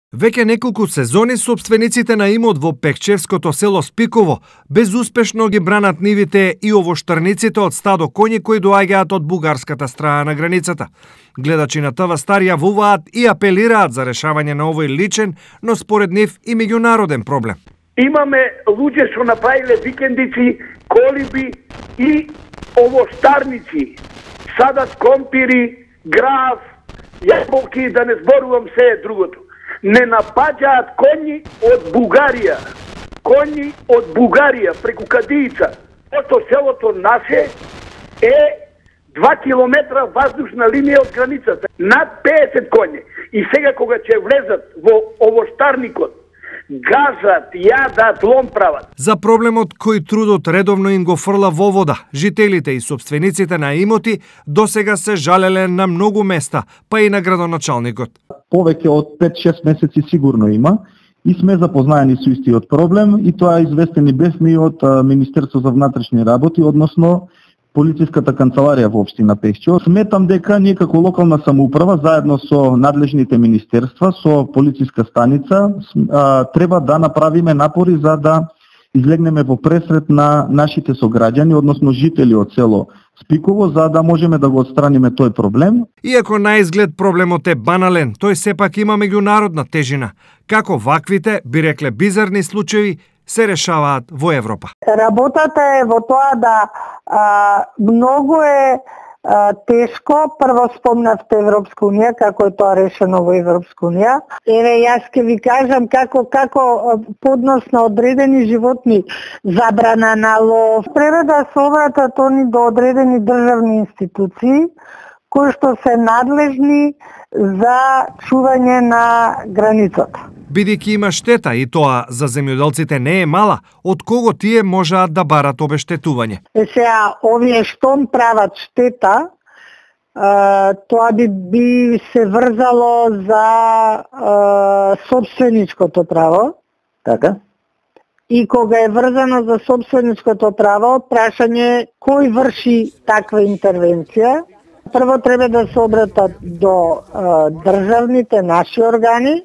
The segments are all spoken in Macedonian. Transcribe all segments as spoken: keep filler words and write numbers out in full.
Веќе неколку сезони сопствениците на имот во Пекчевското село Спиково безуспешно ги бранат нивите и овоштарниците од стадо коњи кои доаѓаат од бугарската страна на границата. Гледачи на ТВ Стар јавуваат и апелираат за решавање на овој личен, но според нив и меѓународен проблем. Имаме луѓе што направиле викендици, колиби и овоштарници. Садат компири, граф, јаболки, да не зборувам се другото. Не напаѓаат коњи од Бугарија. Коњи од Бугарија преку Кадијица. Ото селото наше е два километра воздушна линија од границата. Над педесет коњи. И сега кога ќе влезат во овоштарникот, газат, јадат, лом прават. За проблемот кој трудот редовно им го фрла во вода, жителите и собствениците на имоти досега се жалеле на многу места, па и на градоначалникот. Повеќе од пет-шест месеци сигурно има и сме запознаени со истиот проблем и тоа известени бевме и од Министерство за внатрешни работи, односно полициската канцеларија во општина Пешчево. Сметам дека ние како локална самоуправа заедно со надлежните министерства, со полициска станица треба да направиме напори за да излегнеме во пресрет на нашите сограѓани, односно жители од село Спиково, за да можеме да го отстраниме тој проблем. Иако на изглед проблемот е банален, тој сепак има меѓународна тежина. Како ваквите, би рекле бизарни случаи, се решаваат во Европа. Работата е во тоа да а, многу е а, тешко. Прво спомнавте Европска унија, како е тоа решено во Европска унија. Еве, јас ќе ви кажам како како поднос на одредени животни, забрана на лов. Треба да се обратат они до одредени државни институции кои што се надлежни за чување на границата. Бидејќи има штета и тоа за земјоделците не е мала, од кого тие можаат да барат обештетување? Е сега, овие штом прават штета, тоа би, би се врзало за е, собственичкото право. Така? И кога е врзано за собственичкото право, прашање кој врши таква интервенција. Прво треба да се обратат до е, државните наши органи,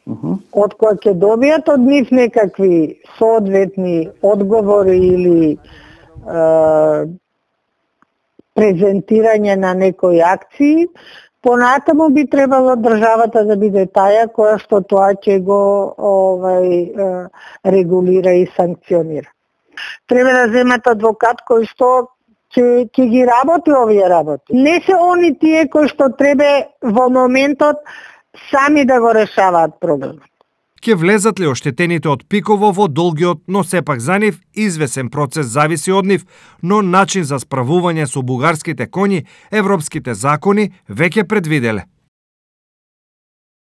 Uh-huh. од кои ќе добијат од нив некакви соодветни одговори или е, презентирање на некои акции. Понатаму би требало државата да биде таја која што тоа ќе го овај, е, регулира и санкционира. Треба да земат адвокат кој што ќе ќе ги работи овие работи. Не се они тие кои што треба во моментот сами да го решаваат проблемот. Ке влезат ли оштетените од Пиково во долгиот, но сепак за нив извесен процес зависи од нив, но начин за справување со бугарските коњи европските закони веќе предвиделе.